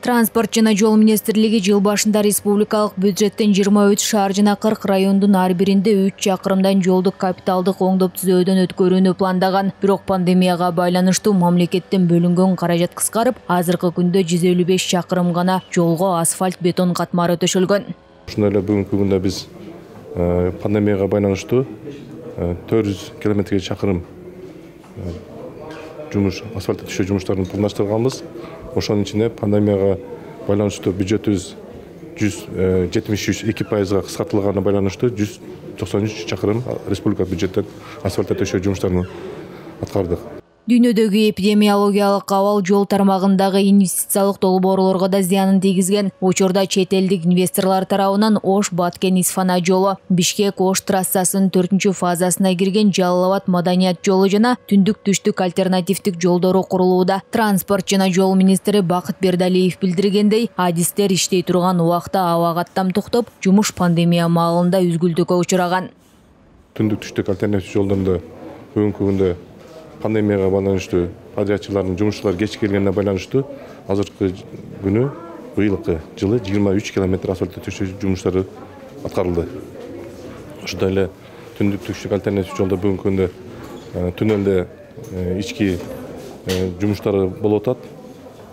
Транспорт жана жол министрлиги жыл башында республикалык бюджеттен 23 шаар жана 40 райондун ар биринде 3 чакырымдан жолду капиталдык оңдоп түзөөдөн өткөрүүнү пландаган. Бирок пандемияга байланыштуу мамлекеттен бөлүнгөн каражат кыскарып, азыркы күндө 155 чакырым гана жолго асфальт бетон катмары төшөлгөн. Ошондой эле бүгүнкү күндө биз пандемияга байланыштуу 400 километрге чакырым асфальт төшөө жумуштарын пландаштырганбыз. Ошонун ичинде пандемияга байланыштуу бюджетибиз 173% кыскартылганына байланыштуу 193 чакырым республика бюджеттен асфальт төшөө жумуштарын аткардык. Дүйнөдөгү эпидемиологиялык абал жол тармагындагы инвестициялык долбоорлорго да зыянын тийгизген. Учурда чет элдик инвесторлор тарабынан Ош-Баткен-Исфана жолу, Бишкек-Ош трассасынын 4-фазасына кирген Жалал-Абад маданият жолу жана түндүк-түштүк альтернативдик жолдору курулууда. Транспорт жана жол министри Бакыт Бердалиев билдиргендей, адистер иштей турган убакта аба каттам токтоп, жумуш пандемия маалында үзгүлтүүгө учураган. Түндүк-түштүк альтернатив жолдорунда бүгүнкү күндө пандемияга байланыштуу подрядчылардын жумушчулары кечиккенине байланыштуу азыркы күнү быйылкы жылы 23 километр асфальт төшөө жумуштары аткарылды. Ошондой эле түндүк-түштүк альтернатив жолдо бүгүнкү күндө туннелде ички жумуштары болуп атат.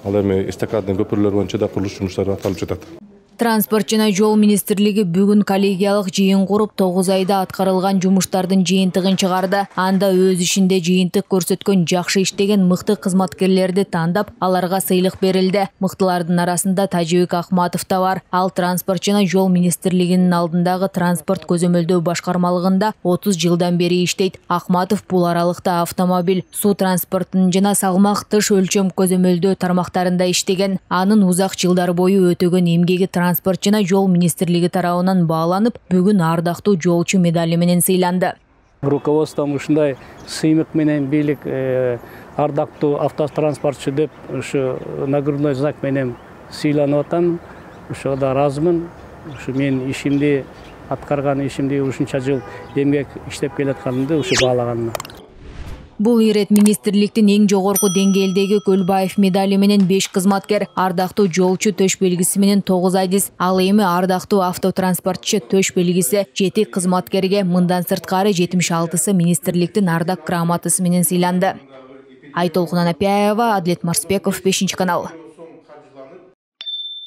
Ал эми эстакадный көпүрлөр боюнча да курулуш жумуштары аткарылып жатат. Транспорт жана жол министрлиги бүгүн коллегиялык жыйын куруп 9 айда аткарылган жумуштардын жыйынтыгын чыгарды. Анда өз ишинде жыйынтык көрсөткөн, жакшы иштеген мыкты кызматкерлерди тандап, аларга сыйлык берилди. Мыктылардын арасында Тажибек Ахматов да бар. Ал транспорт жана жол министрлигинин алдындагы транспорт көзөмөлдөө башкармалыгында 30 жылдан бери иштейт. Ахматов бул аралыкта автомобиль, суу транспортунун жана салмак тыш өлчөм көзөмөлдөө тармактарында иштеген. Анын узак жылдар бою өтөгөн эмгеги Транспорт жана жол министрлиги тарабынан бааланып, бүгүн ардактуу жолчу медали менен сыйланды. Руководством ушундай сыймык менен бийлик ардактуу автотранспортчу деп ушу нагрудной знак менен сыйланып атам. Ошого да ыраазымын. Ушу мен ишимди аткарган ишимди ушунча жыл эмгек иштеп келатканымды ушу баалаганыма. Бул ирет министрликтин эң жогорку деңгээлдеги Көлбаев медали менен 5 кызматкер, ардактуу жолчу төш белгиси менен 9 адис, ал эми ардактуу автотранспортчу төш белгиси 7 кызматкерге, мындан сырткары 76сы министрликтин ардак грамотасы менен сыйланды. Айтолкун Анапияева, Адлет Марсбеков, 5 канал.